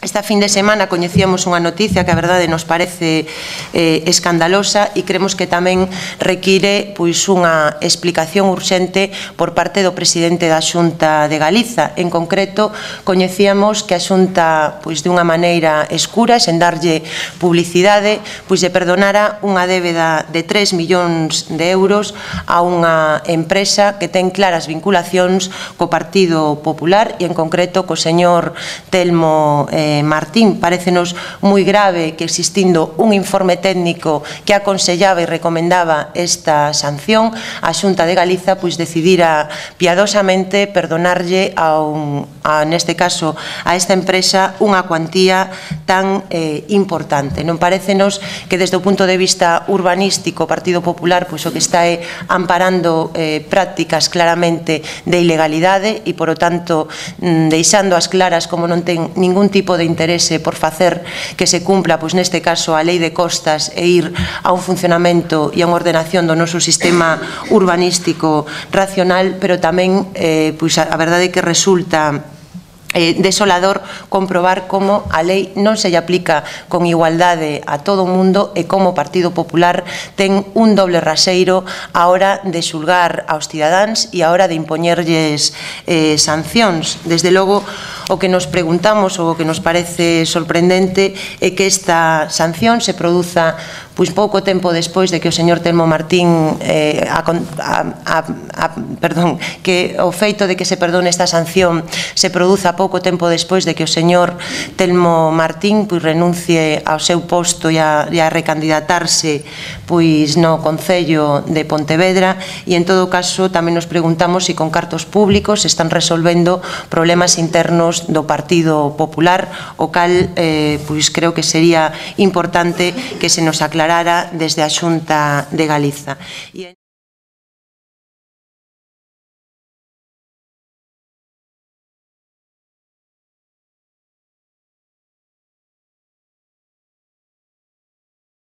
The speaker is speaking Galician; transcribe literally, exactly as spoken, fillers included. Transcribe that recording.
Esta fin de semana coñecíamos unha noticia que a verdade nos parece eh, escandalosa e creemos que tamén require pois, unha explicación urxente por parte do presidente da Xunta de Galiza. En concreto, coñecíamos que a Xunta, pois, de unha maneira escura, sen darlle publicidade, pois, lle perdonara unha débeda de tres millóns de euros a unha empresa que ten claras vinculacións co Partido Popular e, en concreto, co señor Telmo eh, Martín. Parécenos moi grave que, existindo un informe técnico que aconsellaba e recomendaba esta sanción, a Xunta de Galiza pois decidira piadosamente perdonarlle a, un, a neste caso a esta empresa unha cuantía tan eh, importante. Non parécenos que desde o punto de vista urbanístico o Partido Popular pois o que está é amparando eh, prácticas claramente de ilegalidade e, por o tanto, deixando as claras como non ten ningún tipo de interese por facer que se cumpla, pois neste caso, a lei de costas e ir a un funcionamento e a unha ordenación do noso sistema urbanístico racional, pero tamén, eh, pois a verdade é que resulta Eh, desolador comprobar como a lei non se lle aplica con igualdade a todo o mundo e como o Partido Popular ten un doble raseiro a hora de xulgar aos cidadáns e a hora de impoñerlles eh, sancións. Desde logo, o que nos preguntamos ou o que nos parece sorprendente é que esta sanción se produza pois pouco tempo despois de que o señor Telmo Martín eh, a, a, a, a, perdón, que o feito de que se perdone esta sanción se produza pouco tempo despois de que o señor Telmo Martín pois renuncie ao seu posto e a, e a recandidatarse pois no Concello de Pontevedra. E en todo caso tamén nos preguntamos se con cartos públicos se están resolvendo problemas internos do Partido Popular, o cal eh, pois creo que sería importante que se nos aclarara desde a Xunta de Galiza.